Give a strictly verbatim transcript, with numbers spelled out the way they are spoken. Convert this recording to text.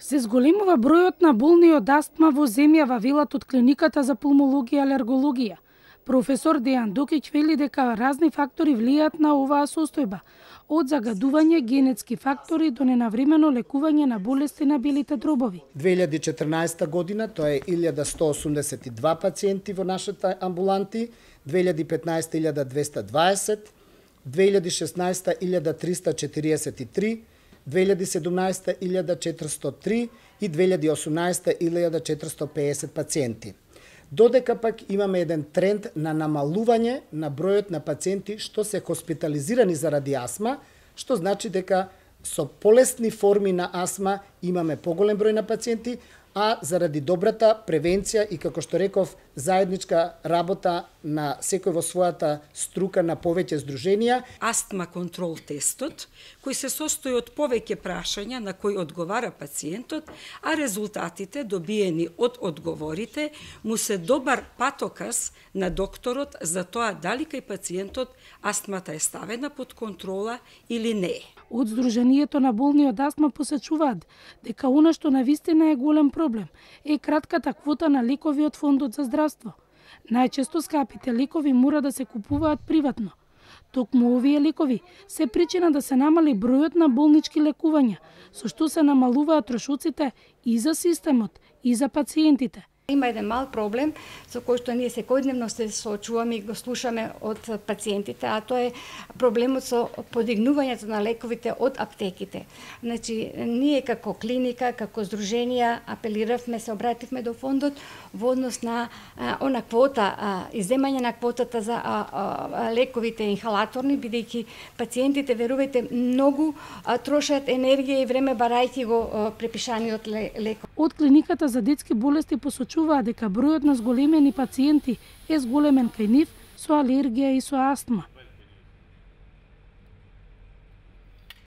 Се зголемува бројот на болни од астма во земјава, велат од клиниката за пулмологија и алергологија. Професор Дејан Докиќ вели дека разни фактори влијаат на оваа состојба, од загадување, генетски фактори до ненавремено лекување на болести на белите дробови. две илјади и четрнаесета година тоа е илјада сто осумдесет и два пациенти во нашите амбуланти, две илјади и петнаесета илјада двеста дваесет, две илјади и шеснаесета илјада триста четириесет и три, две илјади и седумнаесета илјада четиристотини и три и две илјади и осумнаесета илјада четиристотини и пеесет пациенти. Додека пак имаме еден тренд на намалување на бројот на пациенти што се хоспитализирани заради астма, што значи дека со полесни форми на астма имаме поголем број на пациенти, а заради добрата превенција и, како што реков, заедничка работа на секој во својата струка на повеќе здруженија. Астма контрол тестот, кој се состои од повеќе прашања на кои одговара пациентот, а резултатите добиени од одговорите му се добар патоказ на докторот за тоа дали кај пациентот астмата е ставена под контрола или не. Од Сдруженијето на болни од астма посечуваат дека она што навистина е голем проблем е кратката квота на лекови од Фондот за здравство. Најчесто скапите лекови мора да се купуваат приватно. Токму овие лекови се причина да се намали бројот на болнички лекувања, со што се намалуваат трошоците и за системот, и за пациентите. Има еден мал проблем со кој што ние секојдневно се соочуваме и го слушаме од пациентите, а тоа е проблемот со подигнувањето на лековите од аптеките. Значи, ние како клиника, како здруженија апелиравме, се обративме до фондот во однос на а, она квота, а, изземање на квотата за а, а, лековите инхалаторни, бидејќи пациентите, верувајте, многу а, трошат енергија и време барајќи го а, препишаниот леков. Од клиниката за детски болести посочуваат дека бројот на зголемени пациенти е зголемен кај нив со алергија и со астма.